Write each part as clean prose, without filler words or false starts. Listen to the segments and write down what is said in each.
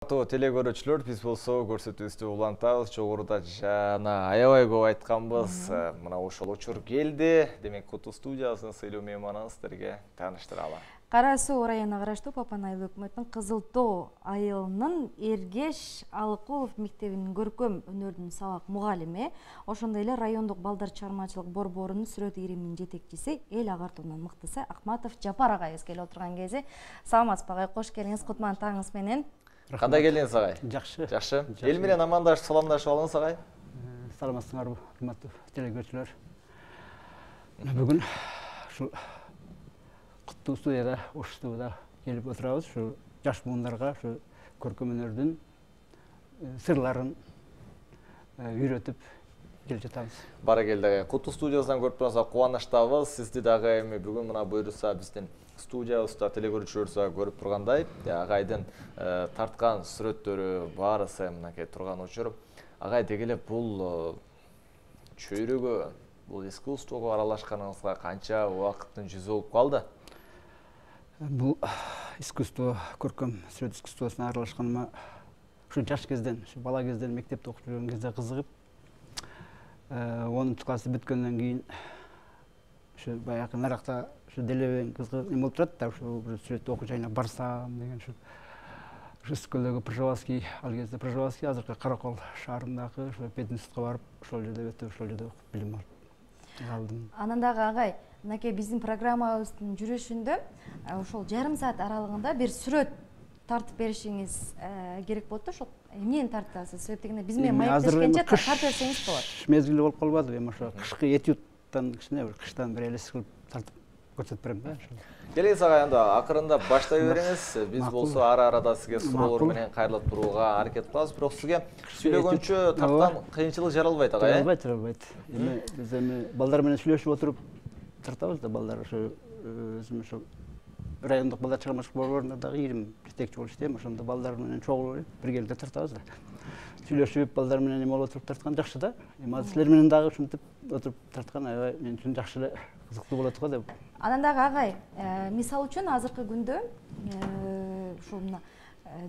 Теле көрүүчүлөр, биз болсо көрсөтүүбүздү улантабыз. Жогоруда жана аябай көп айтканбыз. Мына ошол учур келди. Демек, Куту студиясынын сыйлуу мейманын сиздерге тааныштыралы. Кара Суу районуна караштуу Папанайыл өкмөтүнүн Кызыл Тоо айылынын Эргеш Алыкулов мектебинин көркөм өнөрдүн сабак мугалими, ошондой эле райондук балдар чыгармачылык борборунун сүрөт ириминин жетекчиси, эл агартуунун мыктысы Акматов Жапар агайыбыз келип отурган кези. Саламатсызбы агай, кош келиңиз, кутман таңыңыз менен. Кандай келиңиз агай? Жакшы. Жакшы. Эл менен амандашып саламдашып алыңыз агай. Саламатсыңарбы, урматтуу теле көрүүчүлөр. Бүгүн ушул Куту студияда, оштубуда келип отурабыз. Ушу жаш буундарга ушу көркөм өнөрдүн сырларын үйрөтүп келе жатабыз. Баракелде агай. Куту студиясынан көрүп турсак кубанычтабыз. Сизди дагы эми бүгүн мына буйруса биздин студиябызда теле көрүүчүлөр көрүп тургандай, агайдын тарткан сүрөттөрү баарысы мынакей турган учур. Агай деги эле бул чөйрөгө, бул искусствого аралашканыңызга канча убакыттын жүзү болуп калды? Бул искусство, көркөм сүрөт искусствосуна аралашканыма ушу жаш кезден, ушу бала кезден мектепте окуп жүргөн кезде кызыгып, 10 классы бүткөндөн кийин ушу баягы наракта ушу делебең кызык эме болуп турат да, ушу сүрөт окуу жайына барсам деген ушу Жескөлдөгү Пржевальский, ал кезде Пржевальский, азыркы Каракол шаарындагы ушу пединститутка барып, ошол жерде өтүп, ошол жерде окуп билим алдым. Анан дагы агай, мынакей биздин программабыздын жүрүшүндө ошол жарым саат аралыгында бир сүрөт тартып беришиңиз керек болот да. Ошол эмнени тартасыз? Сүрөт дегенде биз менен маектешкенче тартып берсеңиз болот. Мезгили болуп калбады, эми ошо кышкы этюдтан кичине бир кыштан бир элес кылып тартып көрсөтүп берем да. Келиңиз агай, анда акырында баштай бериңиз. Биз болсо ара-арада сизге суроолор менен кайрылып турууга аракет кылабыз, бирок сизге сүйлөгөнчө тарткан кыйынчылык жаралбайт агай. Жаралбайт. Эми биз балдар менен сүйлөшүп отуруп тартабыз да, балдар ошо өзүм ошо райондук балдар чыгармачылык борборунда дагы 20 жетекчи болуп иштейм. Ошондо балдар менен чогулуп биргеликте тартабыз да. Сүйлөшүп, балдар менен эме болуп отуруп тарткан жакшы да. Эми азыр силер менен дагы ушинтип отуруп тарткан аябай мен үчүн жакшы эле кызыктуу болот го деп. Анан дагы агай, мисалы үчүн азыркы күндө ушул мына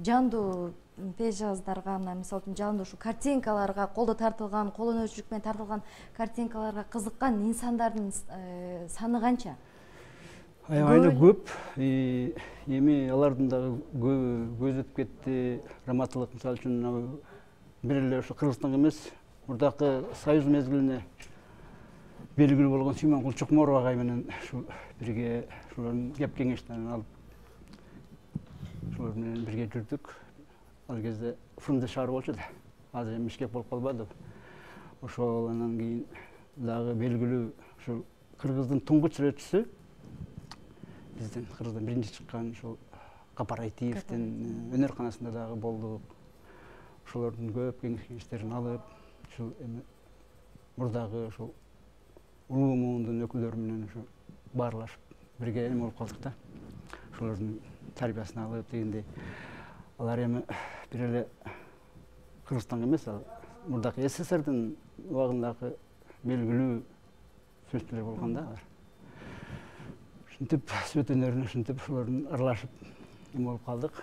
жандуу пейзаждарга, мына мисалы үчүн жандуу ушу картинкаларга, колдо тартылган, кол өнөрчүлүк менен тартылган картинкаларга кызыккан инсандардын саны канча? Аябай көп. Эми алардын дагы көбү өтүп кетти. Раматылык мисалы үчүн бир эле ошо Кыргызстанга эмес, мурдакы Союз мезгилине белгилүү болгон Сүймөнкул Чокморов агай менен ушул бирге ошолордун кеп кеңештерин алып ошолор менен бирге жүрдүк. Ал кезде Фрунзе шаары болчу да. Азыр эми Бишкек болуп калбады. Ошол анан кийин дагы белгилүү ушул Кыргыздын туңгуч сүрөтчүсү, биздин Кыргыздан биринчи чыккан ушул Капар Айтиевдин өнөр-канасында дагы болдук. Ошолордун көп кеңештерин алып, ушул эми мурдагы ушул улуу муундун өкүлдөрү менен ушу баарлашып бирге эме болуп калдык да. Ошолордун тарбиясын алып дегендей. Алар эми бир эле Кыргызстанга эмес, мурдакы СССРдин убагындагы белгилүү сүрөтчүлөр болгон да алар. Ушинтип сүрөт өнөрүнө ушинтип ошолордун аралашып эме болуп калдык.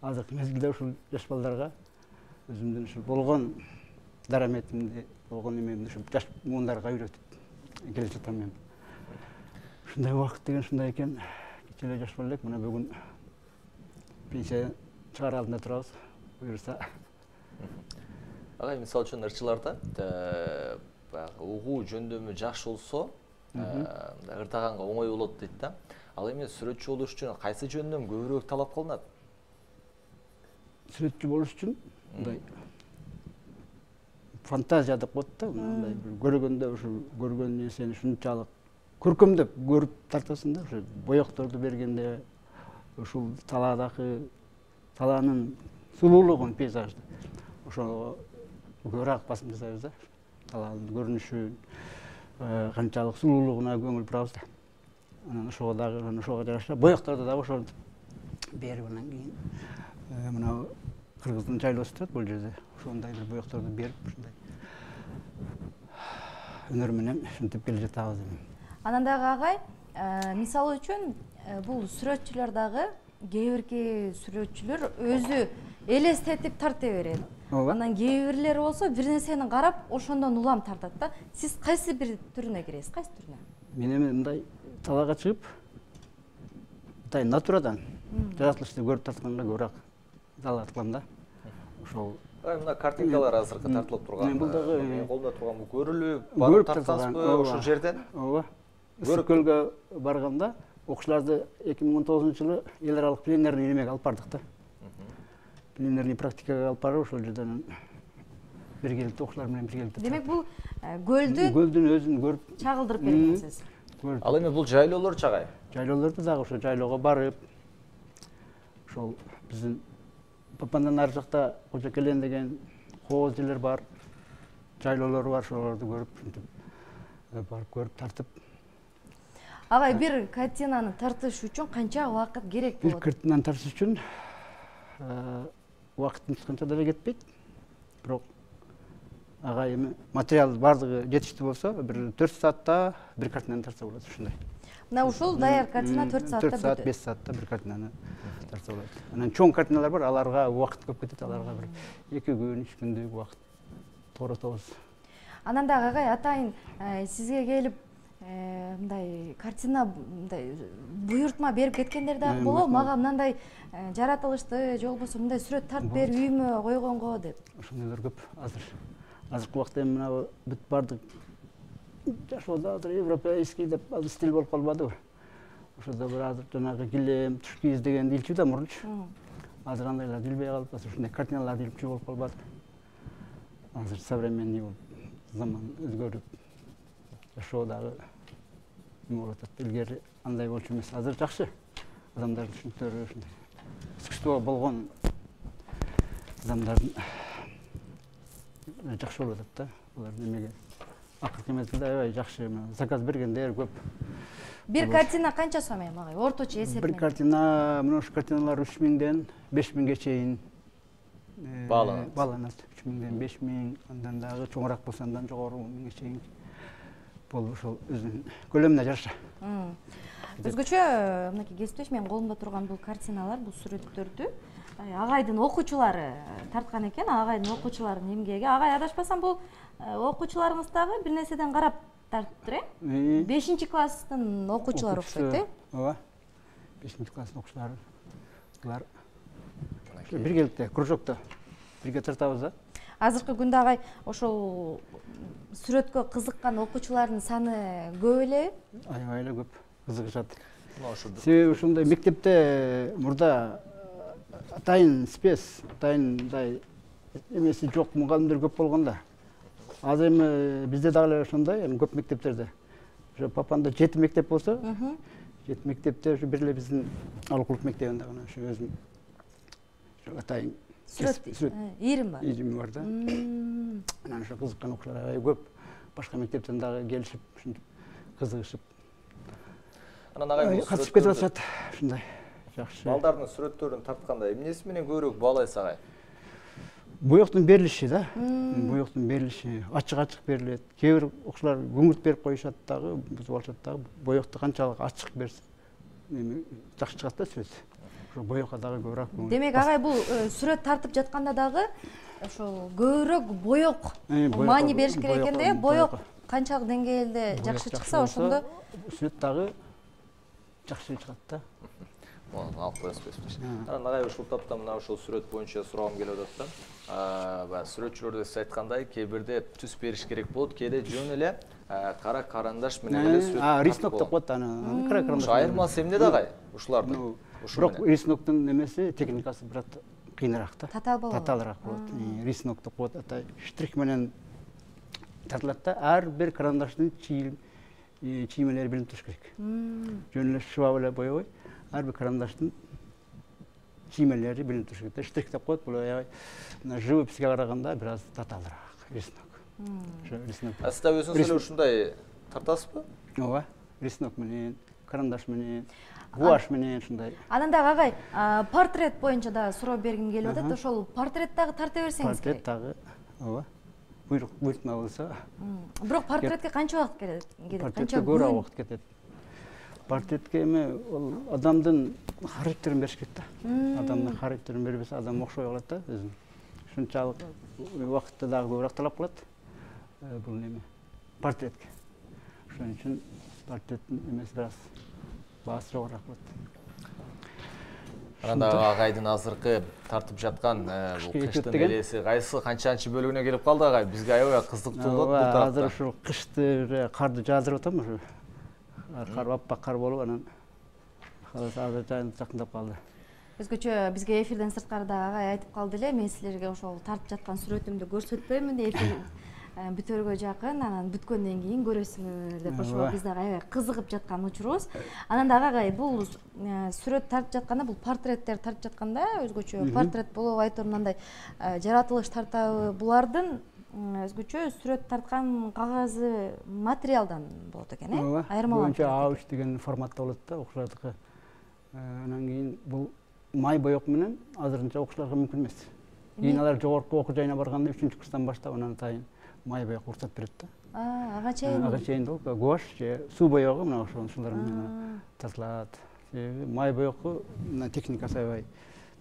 Азыркы мезгилде ушул жаш балдарга өзүмдүн ушул болгон дараметимди, болгон эмемди ушу жаш муундарга үйрөтүп келе жатам мен. Ушундай убакыт деген ушундай экен. Кечээ эле жаш бала элек, мына бүгүн пенсия чыгаар алдында турабыз, буюрса. Агай, мисалы үчүн ырчыларда баягы угуу жөндөмү жакшы болсо, ыртаганга оңой болот дейт да. Ал эми сүрөтчү болуш үчүн кайсы жөндөм көбүрөөк талап кылынат? Сүрөтчү болуш үчүн мындай фантазия деп коет да, мындай көргөндө ушул көргөн нерсени ушунчалык көркөмдөп көрүп тартасың да. Ушу боекторду бергенде ушул талаанын сулуулугун, пейзажды ошого көбүрөөк басым жасайбыз да. Талаанын көрүнүшүн, канчалык сулуулугуна көңүл бурабыз да. Анан ошого жараша боекторду дагы ошентип берип, анан кийин мына Кыргыздын жайлоосу турат бул жерде. Ошондой бир боекторду берип, ушундай өнөр менен ушинтип келе жатабыз эми. Анан дагы агай, мисалы үчүн бул сүрөтчүлөр дагы кээ бирки сүрөтчүлөр өзү элестетип тарта берет. Ооба. Анан кээ бирлери болсо бир нерсени карап ошондон улам тартат да. Сиз кайсы бир түрүнө киресиз? Кайсы түрүнө? Мен эми мындай талаага чыгып, мындай натурадан жаратылышты көрүп тартканга көбүрөөк талаат кылам да. Ошол Мына картинкалар азыркы тартылып турган. Бул дагы колдо турган бул көрүлүп, барып тартасызбы ошол жерден? Ооба. Көркөлгө барганда окуучуларды 2019-жылы эл аралык пленерный немеге алып бардык да. Пленерный практикага алып барып ошол жерден биргеликте окуучулар менен биргеликте. Демек бул көлдүн өзүн көрүп чагылдырып бергенсиз. Ал эми бул жайлоолор чагай. Жайлоолорду дагы ошо жайлоого барып, ошол биздин Папандан ар жакта Кожокелен деген кооз жерлер бар, жайлоолор бар, ошолорду көрүп, барып көрүп тартып. Агай, бир картинаны тартыш үчүн канча убакыт керек болот? Бир картинаны тартыш үчүн убакыттын канча деле кетпейт. Бирок агай эми материал бардыгы жетиштүү болсо, бир 4 саатта бир картинаны тартса болот ушундай. Мына ушул даяр картина 4 саатта бүтөт. 4 саат, 5 саатта бир картинаны тартса болот. Анан чоң картиналар бар, аларга убакыт көп кетет, аларга бир 2 күн, 3 күндүк убакыт тоорутобуз. Анан дагы агай атайын сизге келип мындай картина мындай буйртма берип кеткендер дагы болобу? Мага мындай жаратылышты же болбосо мындай сүрөт тартып бер үйүмө койгонго деп. Ошондойлор көп азыркы убакта эми мына бүт бардык жашоодо азыр европейский деп азыр стиль болуп калбадыбы? Ошондо бир азыр жанагы килем, туш кийиз дегенди илчү да мурунчу. Азыр андайлар билбей калып, азыр ушундай картиналарды илчү болуп калбады. Азыр современный болуп, заман өзгөрүп, жашоо дагы эме болуп атат. Илгери андай болчу эмес. Азыр жакшы. Адамдардын түшүнүктөрү ушундай. Искусство болгон адамдардын жакшы болуп атат да. Булар немеге акыркы мезгилде аябай жакшы заказ бергендер көп. Бир картина канча сом эми агай? Орточо эсеп менен. Бир картина, мына ушул картиналар 3000ден 5000ге чейин бааланат. 3000ден 5000, андан дагы чоңураак болсо андан жогору 1000ге чейин болуп ошол өзүнүн көлөмүнө жараша. Өзгөчө мынакей кесиптеш менин колумда турган бул картиналар, бул сүрөттөрдү агайдын окуучулары тарткан экен. Агайдын окуучуларынын эмгеги. Агай адашпасам бул окуучуларыңыз дагы бир нерседен карап тартыптыр, 5 класстын окуучулары окшойт, Ооба. 5 класстын окуучулары. Булар биргеликте, кружокто бирге тартабыз да. Азыркы күндө агай ошол сүрөткө кызыккан окуучулардын саны көп эле? Аябай эле көп кызыгышат. Себеби ушундай мектепте мурда атайын спец, атайын мындай эмеси жок мугалимдер көп болгондо. Азыр эми бизде дагы эле ошондой, эми көп мектептерде. Ошо Папанда 7 мектеп болсо, 7 мектепте ушу бир эле биздин Алыкулов мектебинде гана ушу өзүм атайын сүрөт ирим бар. Ирим бар да. Анан ошо кызыккан окуучулар аябай көп. Башка мектептен дагы келишип, ушинтип кызыгышып. Анан агай катышып кетип атышат. Ушундай жакшы. Балдардын сүрөттөрүн тартканда эмнеси менен көбүрөөк баалайсыз агай? Боёктун берилиши да. Боёктун берилиши ачык берилет. Кээ бир окуучулар күңүрт берип коюшат дагы, бузуп алышат дагы. Боёкту канчалык ачык берсе, эми жакшы чыгат да сүрөт. Ошо боёкко дагы көбүрөөк. Демек агай бул сүрөт тартып жатканда дагы ошол көбүрөөк боёк маани бериш керек экен да. Боёк канчалык деңгээлде жакшы чыкса, ошондо сүрөт дагы жакшы чыгат да. Алып коесуз. Анан агай ушул тапта мына ушул сүрөт боюнча сурагым келип атат да. Сүрөтчүлөрдө сиз айткандай, кээ бирде түс бериш керек болот, кээде жөн эле кара карандаш менен эле сүрөт. Риснок деп коет аны. Кара карандаш. Айырмасы эмнеде агай ушулардын? Бирок рисноктун немеси техникасы бирок кыйыныраак да. Татаалыраак болот. Риснок деп коет, атай штрих менен тартылат да. Ар бир карандаштын чиймелери билинип туруш керек. Жөн эле шыбап эле боебой, ар бир карандаштын чиймелери билинип туруш керек. Штрих деп коет, бул аябай мына живописке караганда бир аз татаалыраак риснок. Ошо риснок. Сиз да өзүңүз эле ушундай тартасызбы? Ооба, риснок менен, карандаш менен, гуашь менен ушундай. Анан дагы агай, портрет боюнча да суроо бергим келип атат. Ошол портрет дагы тарта берсеңиз керек. Портрет дагы, ооба. Буйртма болсо. Бирок портретке канча убакыт кетет? Портретке көбүрөөк убакыт кетет. Портретке эми ол адамдын характерин бериш керек да. Адамдын характерин бербесе адам окшой калат да өзүн. Ушунчалык убакытта дагы көбүрөөк талап кылат бул неме портретке. Ошон үчүн портреттин эмеси бир аз баасы жогорураак болот. Анда агайдын азыркы тартып жаткан бул кыштын элеси кайсы канчанчы бөлүгүнө келип калды агай? Бизге аябай кызыктуу болот бул тарапта. Азыр ушул кышты карды жаздырып атам ушу. Кар аппак кар болуп анан халас азыр жакындап калды. Өзгөчө бизге эфирден сырткары дагы агай айтып калды эле, мен силерге ошол тартып жаткан сүрөтүмдү көрсөтпөймүн деп бүтөргө жакын, анан бүткөндөн кийин көрөсүңөр деп ошого биз дагы аябай кызыгып жаткан учурубуз. Анан дагы агай бул сүрөт тартып жатканда, бул портреттер тартып жатканда өзгөчө портрет болуп айтор мындай жаратылыш тартабы булардын өзгөчө сүрөт тарткан кагазы материалдан болот экен, айырмаланып. Боюнча A3 деген форматта болот да, окшолардыкы. Анан кийин бул май боек менен азырынча окушуларга мүмкүн эмес. Кийин алар жогорку окуу жайына барганда 3-курстан баштап анан атайын май боек уруксат берет да. Ага чейин. Ага чейин гуашь же суу боегу мына ошолар менен тартылат. Май боекку техникасы аябай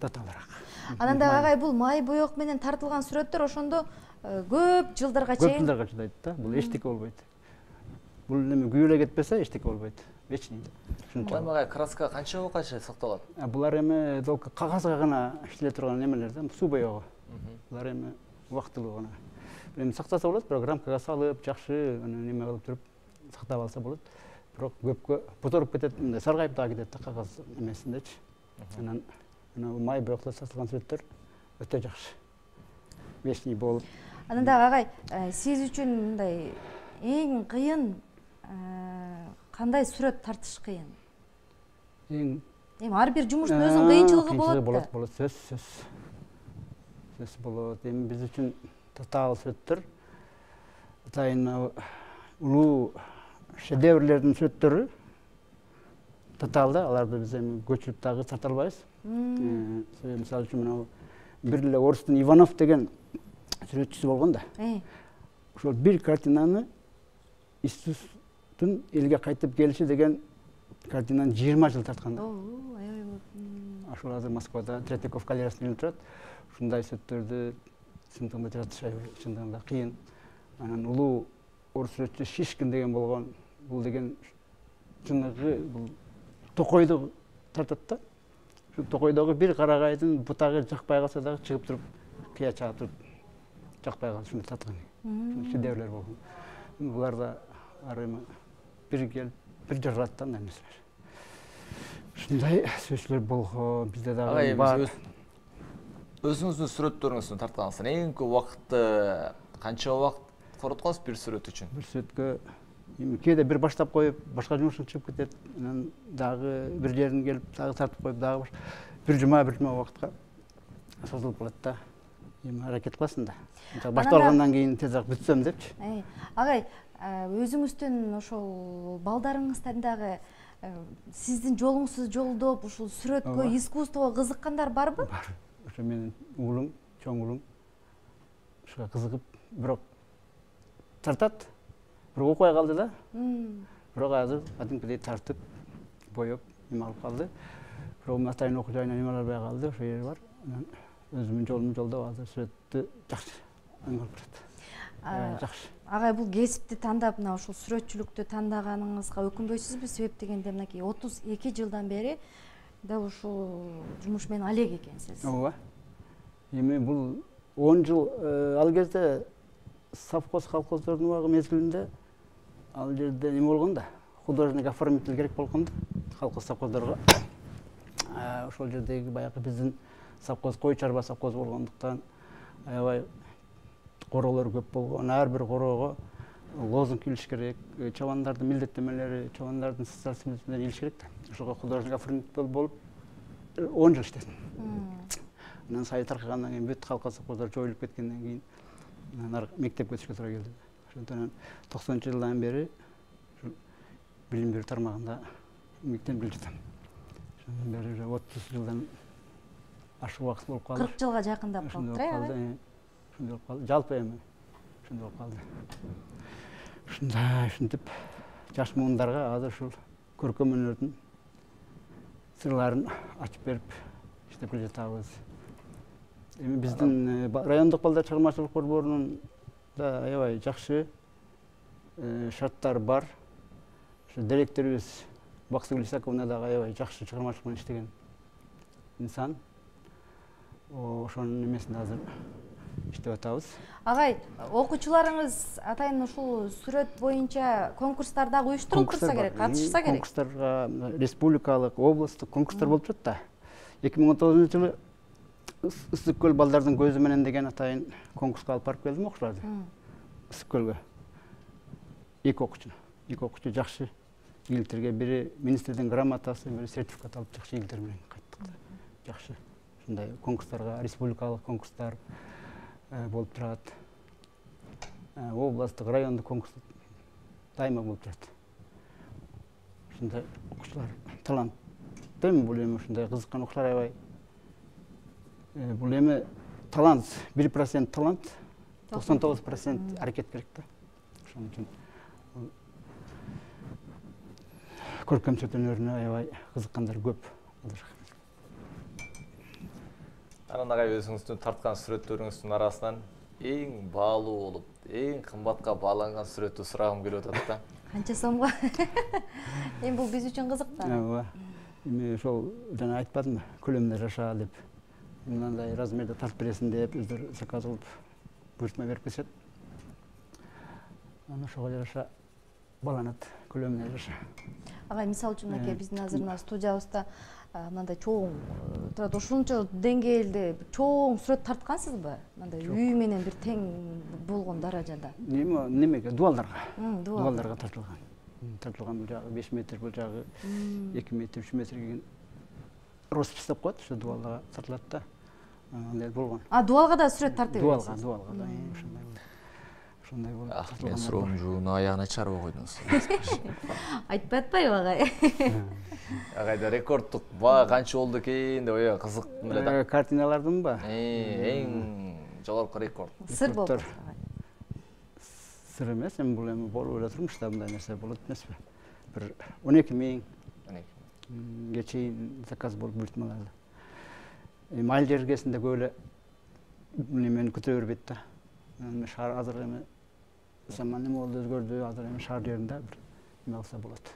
татаалыраак. Анан дагы агай бул май боек менен тартылган сүрөттөр ошондо көп жылдарга чейин. Көп жылдарга чыдайт да. Бул эчтеке болбойт. Бул эме күйөлө кетпесе эчтеке болбойт. Вечный. Ушунча краска канча убакытча сакталат? Булар эми только кагазга гана иштеле турган немелер да, суу боегу. Булар эми убактылуу гана. Эми сактаса болот, бирок рамкага салып, жакшы неме кылып туруп сактап алса болот. Бирок көпкө потороп кетет, мындай саргайып дагы кетет да кагаз эмесиндечи. Анан май боекто сатылган сүрөттөр өтө жакшы. Вечный болуп. Анан дагы агай, сиз үчүн мындай эң кыйын кандай сүрөт тартыш кыйын? Эми ар бир жумуштун өзүнүн кыйынчылыгы болот да. Болот, сөзсүз болот. Эми биз үчүн татаал сүрөттөр, атайын улуу шедеврлердин сүрөттөрү татаал да, аларды биз эми көчүрүп дагы тарта албайбыз. Мисалы үчүн мына бир эле орустун Иванов деген сүрөтчүсү болгон да. Ошол бир картинаны Иисустун элге кайтып келиши деген картинаны 20 жыл тарткан да. Ошол азыр Москвада Третьяков галереясында жүрүп турат. Ушундай сүрөттөрдү чындыгында жаратыш аябай чындыгында кыйын. Анан улуу орус сүрөтчү Шишкин деген болгон, бул деген чындыгы бул токойду тартат да. Ушул токойдогу бир карагайдын бутагы жакпай калса дагы чыгып туруп, кыя чыгып туруп жакпай калат, ушундай тарткан. Шедеврлер болгон. Буларда ар эми бир келип, бир жарат да мындай нерселер. Ушундай сөзчүлөр болгон, бизде дагы бар. Өзүңүздүн сүрөттөрүңүздү тарткансыз, эң көп убакытты канча убакыт коротконсуз бир сүрөт үчүн? Бир сүрөткө кээде бир баштап коюп, башка жумушун чыгып кетет. Анан дагы бир жерин келип, дагы тартып коюп, дагы бир жума убакытка созулуп калат да. Эми аракет кыласың да. Баштап алгандан кийин тезирээк бүтсөм депчи. Агай, өзүңүздүн ошол балдарыңыздан дагы сиздин жолуңузду жолдоп, ушул сүрөткө, искусствого кызыккандар барбы? Бар. Ошо менин уулум, чоң уулум ушуга кызыгып, бирок тартат. Бирок окуй калды да. Бирок азыр кадимкидей тартып, боеп, эме алып калды. Бирок атайын окуу жайына эме албай калды, ошо жери бар. Анан өзүмдүн жолумду жолдоп азыр сүрөттү жакшы алып турат. Жакшы. Агай, бул кесипти тандап, мына ушул сүрөтчүлүктү тандаганыңызга өкүнбөйсүзбү? Себептеги мынакей 32 жылдан бери да ушул жумуш менен алек экенсиз. Ооба. Эми бул 10 жыл ал кезде совхоз колхоздордун убагы мезгилинде ал жерде эме болгон да, художник оформитель керек болгон да, колхоз совхоздорго. Ошол жердеги баягы биздин совхоз кой чарба совхоз болгондуктан аябай короолор көп болгон. Ар бир короого лозунг илиш керек, чабандардын милдеттенмелери, чабандардын социалдык милдеттенмелери илиш керек да. Ошого художник оформитель болуп 10 жыл иштедим. Анан Совет таркагандан кийин бүт колхоз совхоздор жоюлуп кеткенден кийин анан мектепке түшкө туура келди. Ошондон 90-жылдан бери билим берүү тармагында мектепте жатам. Ошондон бери 30 жылдан ашык убакыт болуп калды. 40 жылга жакындап калды. Ошондой болуп калды. Жалпы эми ошондой болуп калды. Ушундай ушинтип жаш муундарга азыр ушул көркөм өнөрдүн сырларын ачып берип иштеп келе жатабыз. Эми биздин райондук балдар чыгармачылык борборунун да аябай жакшы шарттары бар. Ошо директорубуз Баксыгүл Исаковна дагы аябай жакшы чыгармачылык менен иштеген инсан. Ошонун эмесинде азыр иштеп атабыз. Агай, окуучуларыңыз атайын ушул сүрөт боюнча конкурстар дагы уюштурулуп турса керек, катышса керек. Конкурстарга республикалык, областтык конкурстар болуп жатат да. 2019-жылы Ысык көл балдардын көзү менен деген атайын конкурска алып барып келдим окуучуларды. Ысык көлгө. Эки окуучу жакшы ийгиликтерге, бири министрдин грамотасы, бири сертификат алып жакшы ийгиликтер менен кайттык. Жакшы. Ушундай конкурстарга, республикалык конкурстар болуп турат. Областтык, райондук конкурс дайыма болуп турат. Ушундай окуучулар таланттуу эми бул эми ушундай кызыккан окуучулар аябай. Бул эми талант 1% талант, 99% аракет керек да. Ошон үчүн көркөм сүрөт өнөрүнө аябай кызыккандар көп. Анан агай, өзүңүздүн тарткан сүрөттөрүңүздүн арасынан эң баалуу болуп, эң кымбатка бааланган сүрөттү сурагым келип атат да. Канча сомго? Эми бул биз үчүн кызык да. Ооба. Эми ошол жана айтпадымбы, көлөмүнө жараша деп. Мындай размерде тартып бересиң деп өздөрү заказ кылып буйртма берип кетишет. Анан ошого жараша бааланат, көлөмүнө жараша. Агай, мисалы үчүн мынакей биздин азыр мына студиябызда мындай чоң турат, ошончо деңгээлде чоң сүрөт тарткансызбы? Мындай үй менен бир тең болгон даражада. Немеге? Дубалдарга тартылган. Тартылган бул жагы 5 метр, бул жагы 2 метр, 3 метр деген роспись деп коет, ошо дубалга тартылат да. Андай болгон. Дубалга да сүрөт тартып бересиз? Дубалга да, ошондой болуп. Мен суроом жуунун аягына чарба койдуңуз. Айтпай атпайбы агай? Агайда рекордтук баа канча болду экен деп аябай кызык эле да. Картиналардынбы? Эң жогорку рекорд. Сыр болду. Сыр эмес, эми бул эми болуп эле турмушта мындай нерсе болот эмеспи? Бир 12.000 ге чейин заказ болуп буйртмаларды. Эми айыл жергесинде көп эле немени көтөрө бербейт да. Шаар азыр эми заман эме болду, өзгөрдү, азыр эми шаар жеринде бир эме кылса болот.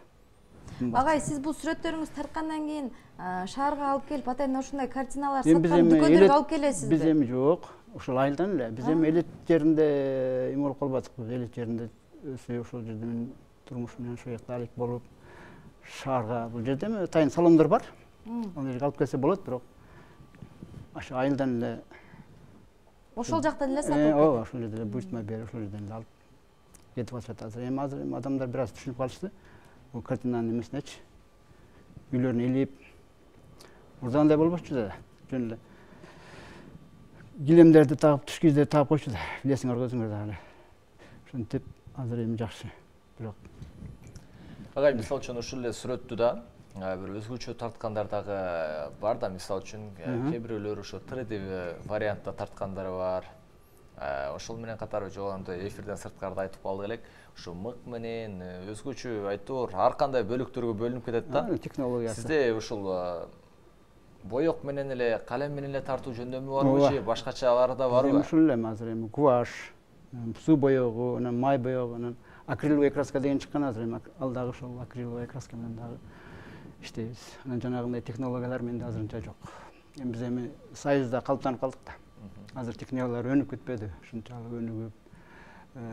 Агай, сиз бул сүрөттөрүңүз тарткандан кийин шаарга алып келип, атайын ошондой картиналар саткан дүкөндөргө алып келесизби? Биз эми жок, ошол айылдан эле. Биз эми элет жеринде эме болуп калбадыкпы, элет жеринде өсүп, ошол жерде турмуш менен ошол жакта алек болуп, шаарга бул жерде эми атайын салондор бар. Ал жерге алып келсе болот, бирок ошо айылдан эле ошол жактан эле сатып? Ооба, ошол жерде эле буйртма берип, ошол жерден эле алып кетип атышат. Азыр эми адамдар бир аз түшүнүп калышты. Бул картинанын эмесинечи. Үйлөрүн илип, мурда андай болбочу да, жөн эле килемдерди тагып, түш кийимдерди тагып койчу да, билесиңер өзүңөр дагы эле. Ошентип азыр эми жакшы. Бирок агай, мисалы үчүн ушул эле сүрөттү да бир өзгөчө тарткандар дагы бар да, мисалы үчүн кээ бирөөлөр ошо 3D вариантта тарткандары бар. Ошол менен катары жогоруда эфирден сырткарда айтып калдык элек, ошо мык менен өзгөчө айтор ар кандай бөлүктөргө бөлүнүп кетет да. Технологиясы. Сизде ушул боек менен эле, калем менен эле тартуу жөндөмү барбы же башкачалары да барбы? Ушул эле азыр эми гуаш, суу боегу, анан май боегу, анан акриловый краска деген чыккан азыр эми ал дагы ошол акриловый краска менен дагы иштейбиз. Анан жанагындай технологиялар менде азырынча жок. Эми биз эми Союзда калыптанып калдык да. Азыр технологиялар өнүп кетпеди, ушунчалык өнүгүп,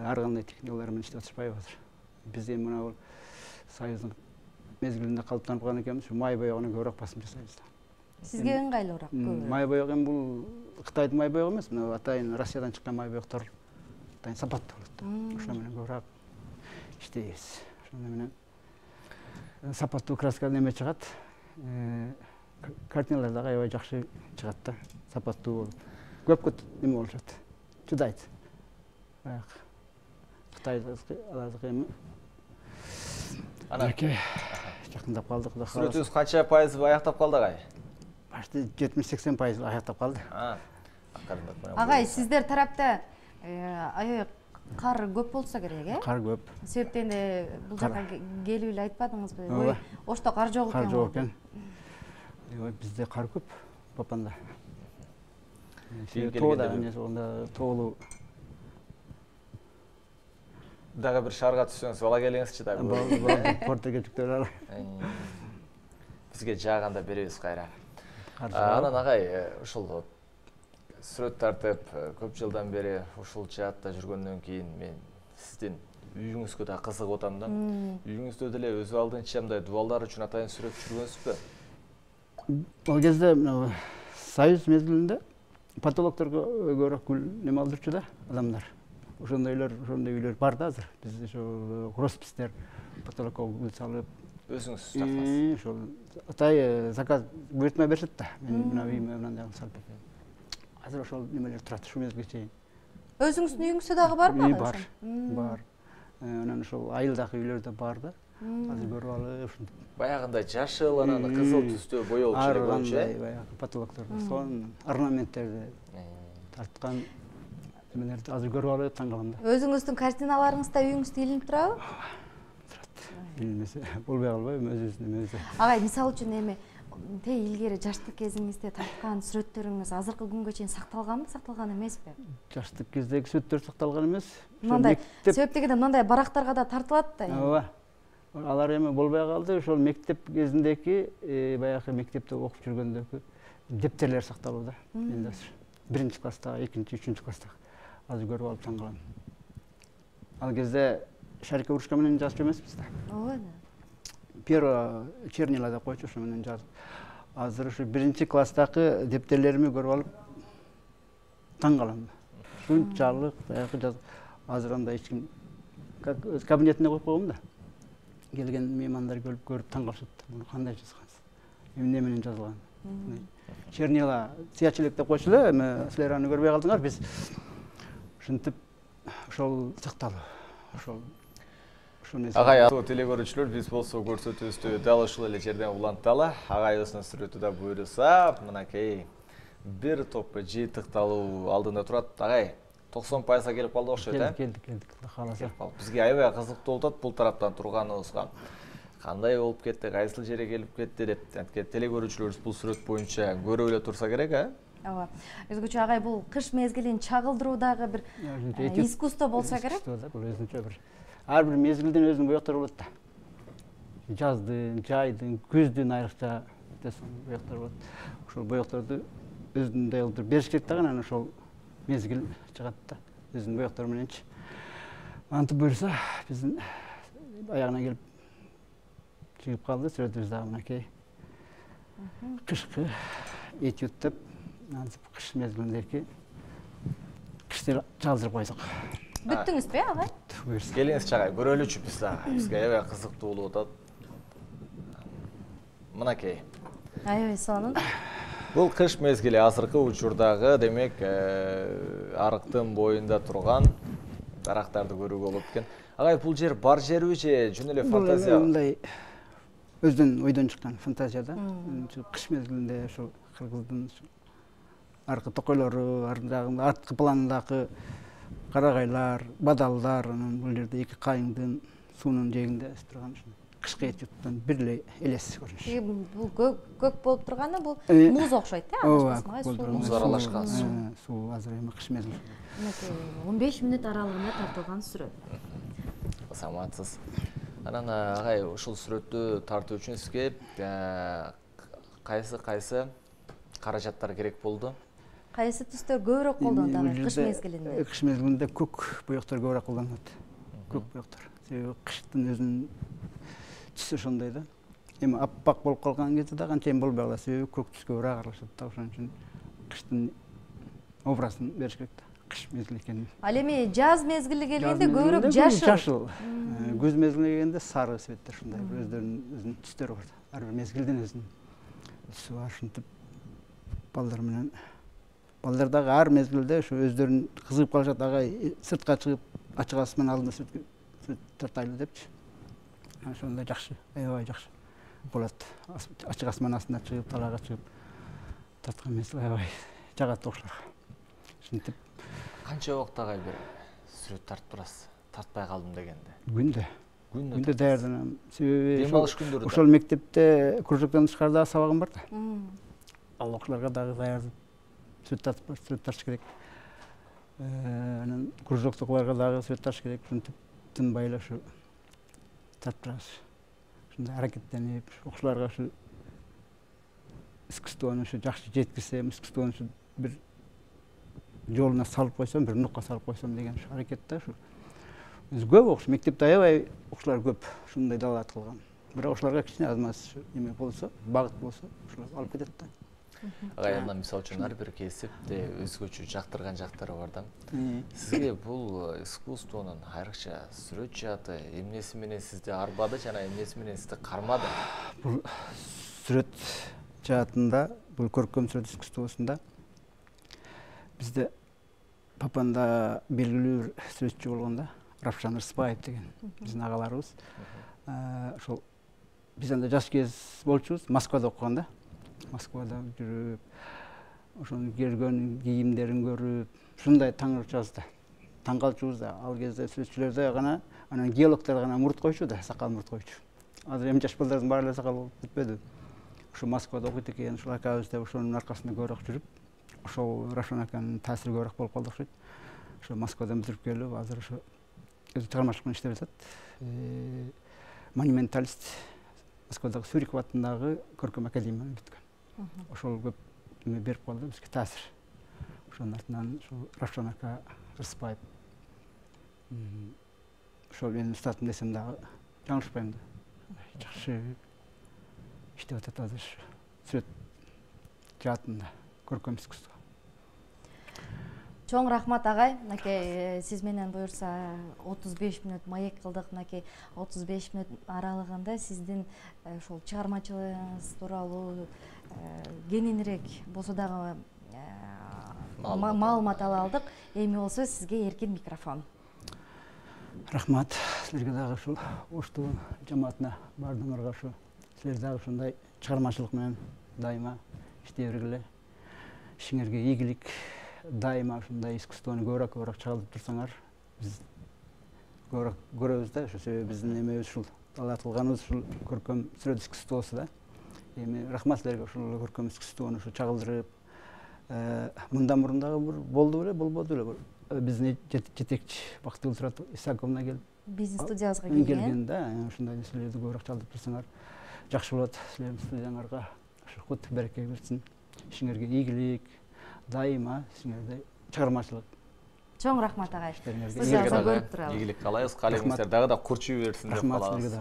ар кандай технологиялар менен иштеп атышпайбы азыр. Биз эми мына бул Союздун мезгилинде калыптанып калган экенбиз, май боегуна көбүрөөк басым жасайбыз да. Сизге ыңгайлуураак көбүрөөк? Май боек эми бул Кытайдын май боегу эмес, мына атайын Россиядан чыккан май боектор атайын сапаттуу болот. Ошо менен көбүрөөк иштейбиз. Ошону менен сапаттуу краска неме чыгат. Картиналар дагы аябай жакшы чыгат да, сапаттуу болуп. Көпкө неме болушат, чыдайт. Баягы Кытайдыкы эми анан жакындап калдык. Сүрөтүңүз канча пайыз аяктап калды агай? Почти 70-80% аяктап калды. Агай, сиздер тарапта аябай Кар көп болсо керек, Кар көп. Себептен бул жака келип эле айтпадыңызбы? Ой, ошто кар жок экен. Кар жок экен. Бизде кар көп, Папанда. Тоода эмес, онда тоолуу. Дагы бир шаарга түшсөңүз бала келиңизчи дагы. Порто кечиктер ал. Бизге жааганда беребиз кайра. Анан агай, ушул сүрөт тартып, көп жылдан бери ушул жаатта жүргөндөн кийин мен сиздин үйүңүзгө да кызыгып атам да. Үйүңүздө деле өзү алдынча мындай дубалдар үчүн атайын сүрөт жүргөнсүзбү? Ал кезде Союз мезгилинде патологдорго көбүрөөк неме алдырчу да адамдар. Ошондой үйлөр бар да азыр. Биз ошо роспистер патологко гүл салып, өзүңүз тартасыз. Ошол атай заказ буйртма беришет да. Мен мына үйүмө мындай салып берем. Азыр ошол немелер турат, ушу мезгилге чейин. Өзүңүздүн үйүңүздө дагы барбы? Бар. Анан ошол айылдагы үйлөрдө бар да. Азыр көрүп алып ушинтип. Баягындай жашыл, анан кызыл түстө боелчу эле болчу, баягы патологдордо сонун орнаменттерди тарткан немелерди азыр көрүп алып таң калам да. Өзүңүздүн картиналарыңыз да үйүңүздө илинип турабы? Турат. Илинмесе болбой калбайбы өзүбүздүн эмебизде. Агай, мисалы үчүн эми илгери жаштык кезиңизде тарткан сүрөттөрүңүз азыркы күнгө чейин сакталганбы, сакталган эмеспи? Жаштык кездеги сүрөттөр сакталган эмес. Мындай себептеги мындай барактарга да тартылат да. Ооба. Алар эми болбой калды. Ошол мектеп кезиндеги, баягы мектепте окуп жүргөндөгү дептерлер сакталууда. Менде азыр 1-класстагы, 2-3 класстагы. Азыр көрүп алып таң калам. Ал кезде шарика урушка менен жазчу эмеспиз да. Ооба. Первый чернила деп койчу, ошо менен жазып. Азыр ушу 1-класстагы дептерлерими көрүп алып таң калам. Шунчалык баягы жазып. Азыр анда эч ким кабинетине коюп койгом да. Келген меймандар көрүп таң калышат. Муну кандай жазгансыз? Эмне менен жазылган? Чернила цвет деп койчу эле, эми силер аны көрбөй калдыңар. Биз ушинтип ошол сакталып. Ошол Агай, теле көрүүчүлөр, биз болсо көрсөтүүбүздү дал ушул эле жерден уланталы. Агайыбыздын сүрөтү да буйруса, мынакей бир топ жий тыкталуу алдында турат. Агай, 90% келип калды окшойт, Келдик, кааласа. Бизге аябай кызыктуу болуп атат бул тараптан турганыбызга. Кандай болуп кетти, кайсыл жерге келип кетти деп, теле көрүүчүлөрүбүз бул сүрөт боюнча көрүп эле турса керек, Ооба. Өзгөчө агай, бул кыш мезгилин чагылдыруудагы бир искусство болсо керек. Бул өзүнчө бир ар бир мезгилдин өзүнүн боёктору болот да. Жаздын, жайдын, күздүн айрыкча боёктор болот. Ошол боёкторду өзүндөй кылып бериш керек да, анан ошол мезгил чыгат да. Өзүнүн боёктору мененчи. Антип буйруса, биздин аягына келип чыгып калды сүрөтүбүз дагы мынакей. Кышкы этюд деп, антип кыш мезгилиндеги кышты чагылдырып койдук. Бүттүңүзбү, агай? Келиңиз чагай, көрөлүчү биз дагы. Бизге аябай кызыктуу болуп атат. Мынакей. Аябай сонун. Бул кыш мезгили азыркы учурдагы, демек, арыктын боюнда турган дарактарды көрүүгө болот экен. Агай, бул жер бар жерби же жөн эле фантазия? Мындай өздөн ойдон чыккан фантазия да. Кыш мезгилинде ошол кыргыздын аркы токойлору, арткы пландагы карагайлар, бадалдар, анан бул жерде эки кайыңдын суунун жээгинде өсүп турган кышкы этюдтан бир эле элес көрүнүш. Бул көк болуп турганы бул муз окшойт, Ооба, муз аралашкан суу азыр эми кыш мезгили. 15 мүнөт аралыгында тартылган сүрөт. Саматсыз. Анан агай, ушул сүрөттү тартуу үчүн сизге кайсы каражаттар керек болду? Кайсы түстөр көбүрөөк колдонулат кыш мезгилинде? Кыш мезгилинде көк боёктор көбүрөөк колдонулат. Көк боёктор. Себеби кыштын өзүнүн түсү ошондой да. Эми аппак болуп калган кезде да анчейин болбой калат. Себеби көк түскө көбүрөөк аралашат да. Ошон үчүн кыштын образын бериш керек да. Кыш мезгили экенин. Ал эми жаз мезгили келгенде көбүрөөк жашыл. Күз мезгилине келгенде сары цветтер ушундай өздөрүнүн түстөрү бар. Ар бир мезгилдин өзүнүн түсү бар. Ушинтип балдар дагы ар мезгилде ошо өздөрүн кызыгып калышат. Агай, сыртка чыгып ачык асман алдында сүрөт тартайлы депчи. Ошондой жакшы, аябай жакшы болот. Ачык асман астына чыгып, талаага чыгып тарткан мезгил аябай жагат окшолорго. Ушинтип канча убакыт агай бир сүрөт тартып турасыз? Тартпай калдым дегенде. Күндө даярданам. Себеби дем алыш күндөрү ошол мектепте кружоктон тышкары дагы сабагым бар да. Ал окуучуларга дагы даярдап сүрөт тартыш керек. Анан кружоктогуларга дагы сүрөт тартыш керек. Ушинтип тынбай эле ушу тартып турабыз. Ушундай аракеттенип, окуучуларга ушу искусствону ушу жакшы жеткизсем, искусствону ушу бир жолуна салып койсом, бир нукка салып койсом деген ушу аракет да ушу. Көп окуучу, мектепте аябай окуучулар көп, ушундай далаат кылган. Бирок ошолорго кичине аз маз эме болсо, багыт болсо, ошолор алып кетет да. Агайымдан мисалы үчүн ар бир кесипте өзгөчө жактырган жактары бар да. Сизге бул искусствонун айрыкча сүрөт жааты эмнеси менен сизди арбады жана эмнеси менен сизди кармады? Бул сүрөт жаатында, бул көркөм сүрөт искусствосунда бизде Папанда белгилүү бир сүрөтчү болгон да, Равшан Рыспаев деген биздин агаларыбыз. Ошол биз анда жаш кез болчубуз, Москвада окуган да. Москвада жүрүп, ошонун кийген кийимдерин көрүп, ушундай таңырчабыз да. Таң калчубуз да. Ал кезде сүрөтчүлөрдө гана, анан геологдор гана мурут койчу да, сакал мурут койчу. Азыр эми жаш балдардын баары эле сакал болуп кетпеди. Ошо Москвада окуйт экен, ушул акабыз да ошонун аркасында көбүрөөк жүрүп, ошол Равшан аканын таасири көбүрөөк болуп калды окшойт. Ошо Москвадан бүтүрүп келип, азыр ошо өзү чыгармачылык менен иштеп жатат. Монументалист, Москвадагы Суриков атындагы көркөм академияны бүткөн. Ошол көп эме берип калды бизге таасир. Ошонун артынан ушул Равшан ака Рыспаев. Ошол менин устатым десем дагы жаңылышпайм да. Жакшы иштеп атат азыр сүрөт жаатында, көркөм искусство. Чоң рахмат агай. Мынакей сиз менен буюрса 35 мүнөт маек кылдык. Мынакей 35 мүнөт аралыгында сиздин ошол чыгармачылыгыңыз тууралуу кененирээк болсо дагы маалымат ала алдык. Эми болсо сизге эркин микрофон. Рахмат. Силерге дагы ушул Оштуу жамаатына баардыгыңарга ушу силер дагы ушундай чыгармачылык менен дайыма иштей бергиле. Ишиңерге ийгилик. Дайыма ушундай искусствону көбүрөөк чагылдырып турсаңар, биз көбүрөөк көрөбүз да. Ошо себеби биздин эмебиз ушул талаат кылганыбыз ушул көркөм сүрөт искусствосу да. Эми рахмат силерге ушул көркөм искусствону ушу чагылдырып, мындан мурун дагы бир болду беле, болбоду беле. Биздин жетекчи Бактыгүл Турат Исаковна келип биздин студиябызга келген да. Ушундай нерселерди көбүрөөк чагылдырып турсаңар жакшы болот. Силердин студияңарга ушу кут береке берсин. Ишиңерге ийгилик, дайыма сиңерде чыгармачылык. Чоң рахмат агай. Студиябызда көрүп турабыз. Ийгилик каалайбыз. Калемиңиздер дагы да курчуй берсин деп каалабыз.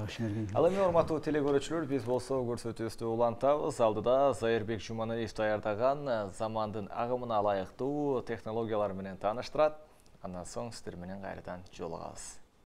Ал эми урматтуу телекөрүүчүлөр, биз болсо көрсөтүүбүздү улантабыз. Алдыда Зайырбек Жуманалиев даярдаган замандын агымына ылайыктуу технологиялар менен тааныштырат. Андан соң сиздер менен кайрадан жолугабыз.